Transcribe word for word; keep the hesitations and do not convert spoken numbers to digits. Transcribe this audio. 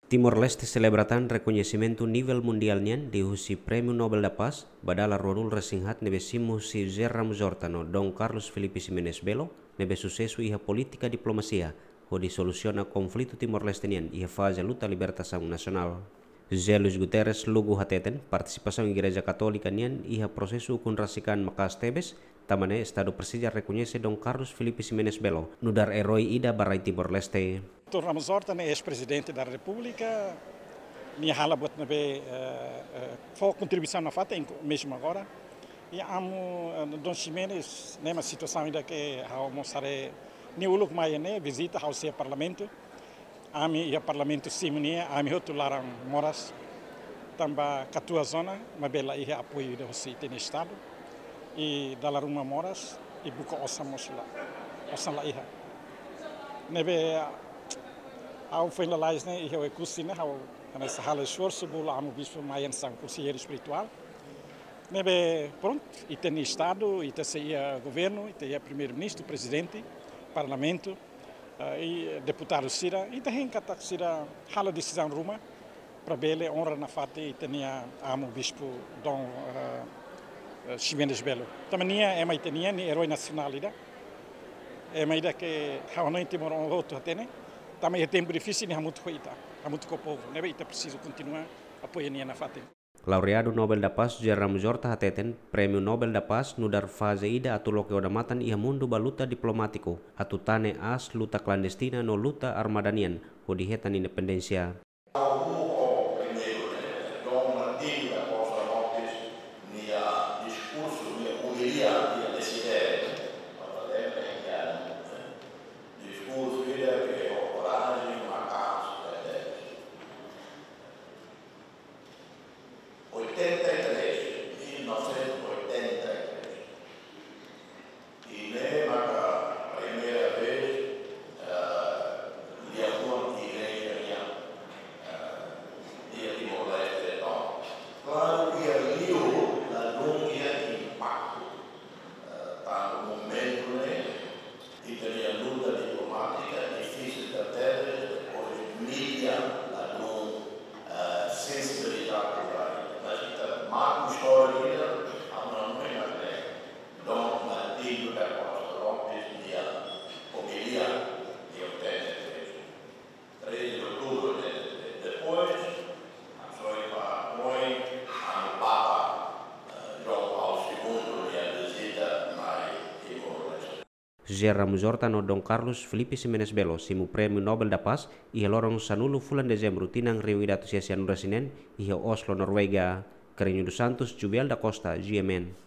Timor-Leste selebra tan rekoñesimentu nivel mundiál nian liuhusi Prémiu Nobel da Paz ba dala ruanulu-resin-haat ne'ebé simu husi José Ramos-Horta no Dom Carlos Felipe Ximenes Belo, ne'ebé susesu iha polítika diplomasia hodi solusiona konflitu Timor-Leste nian iha faze luta libertasaun nasionál. José Luís Guterres Lugo hateten, partisipasaun Igreja Katólika nian iha prosesu ukun rasik an maka'as tebes, tanba ne'e Estadu presiza rekoñese Dom Carlos Felipe Ximenes Belo nu'udar eroi ida ba rai Timor-Leste. Doutór Ramos-Horta ne'e eis-Prezidente da Repúblika, nia halo buat ne'ebé, eh, eh, fó kontribuisaun nafatin, inklui mezmu agora. I amu, eh, Dom Ximenes, ne'e mak situasaun ida ke ha'u mós haree nia uluk mai ne'e vizita ha'u-nia Parlamentu. Ami iha Parlamentu simu nia, ami hotu laran moras. Tanba katuas ona, maibé la iha apoiu ida husi ita-nia Estadu. I dala ruma moras, i buka osan mós la, osan la iha. Ne'ebé ha'u foin lalais ne'e, iha Oekusi ne'e, ha'u hanesan halo esforsu, bolu Amu Bispu mai hanesan konselleiru espirituál. Ne'ebé, prontu, ita-nia Estadu, ita sei iha governu, ita iha Primeiru-Ministru, Prezidente, Parlamentu, eh, i deputadu sira, ita hein katak sira halo desizaun ruma, para bele onra nafatin ita-nia Amu Bispu Dom, eh, eh, Ximenes Belo. Tanba nia ema ita-nian, nia eroi nasionál ida. Ema ida ke ha'u hanoin timoroan hotu hatene. Tanba iha tempu difisil nia hamutuk ho ita, hamutuk ho povu. Ne'ebé ita presiza kontinua apoia nia nafatin. Laureadu Nobel da Paz José Ramos-Horta hateten, Prémiu Nobel da Paz nu'udar faze ida atu loke odamatan iha mundu ba luta diplomátiku, atu tane aas luta klandestina no luta armada nian hodi hetan independénsia. Primeiru, Dom Martinho da Costa Lopes, nia diskursu, nia omilia, nia desidere, diskursu ida ke ho korajen, maka'as, oitenta e três, mil novecentos e oitenta e três. I ne'e maka primeira vez, eh, liafuan igreja nian, eh, iha Timor-Leste entaun. Klaru, iha liu ladún iha impaktu, eh, tanba momentu ne'e, ita-nia luta diplomátika difisil tebes, depois mídia ladún, eh, sensibilizadu ba ita. Mas ita marka istória ida, amu na mena ne'e, Dom Martinho da Costa Lopes nia omilia iha oitenta e três. Treze de outubro de, de, depois, foi para, foi, a Papa, eh, João Paulo segundo, nia vizita mai Timor-Leste. José Ramos-Horta no Dom Carlos Felipe Ximenes Belo simu Prémiu Nobel da Paz iha loron sanulu fulan Dezembru tinan rihun ida atus sia sianulu-resin-neen iha Oslo, Noruega. Carreño dos Santos, Juvial da Costa, G M N.